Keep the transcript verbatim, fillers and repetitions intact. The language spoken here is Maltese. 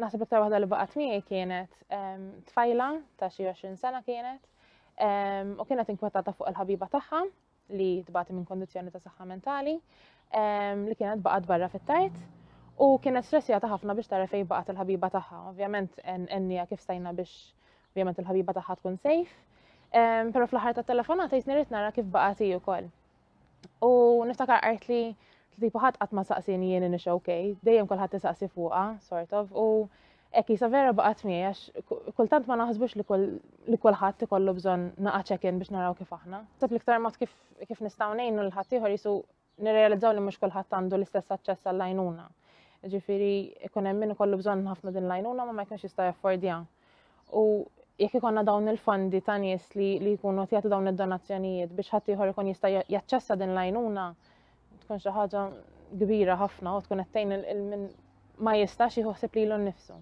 Naħseb iktar waħda li baqgħet miegħi kienet tfajla ta' xi għoxrin sena kienet u kienet inkwetata fuq il-ħabiba tagħha li tbati minn kondizzjoni ta' saħħa mentali li kienet baqgħet barra fit-tard u kienet stressjata ħafna biex tara fejn baqgħet il-ħabiba tagħha. Ovvjament għennieha kif stajna biex ovvjament il-ħabiba tagħha tkun safe. Però fl-aħħar tat-telefonata jisni rrid nara kif baqgħet hi wkoll. U niftakar qalt li tipo ħadd qatt ma saqsini jien inix okay, dejjem kulħadd isaqsi fuqha, sort of, u hekk jisa vera baqgħet miegħi għax kultant ma naħsbux li kulħadd ikollu bżonn naqa' check-in biex naraw kif aħna. Naħseb l-iktar mod kif kif nistgħu ngħinu lil ħaddieħor jisu nirrealizzaw li mhux kulħadd għandu l-istess aċċess għall-għajnuna. Ġifieri ikun hemm min ikollu bżonn ħafna din l-għajnuna ma ma jkunx jista' jaffordja. U jekk ikonna dawn il-fondi ta' nies li li jkunu qed jagħtu dawn id-donazzjonijiet biex ħadd ieħor ikun jista' jaċċessa din l-għajnuna, tkun xi ħaġa kbira ħafna u tkun qed tgħin il min ma jistax jieħu ħsieb lilu nnifsu.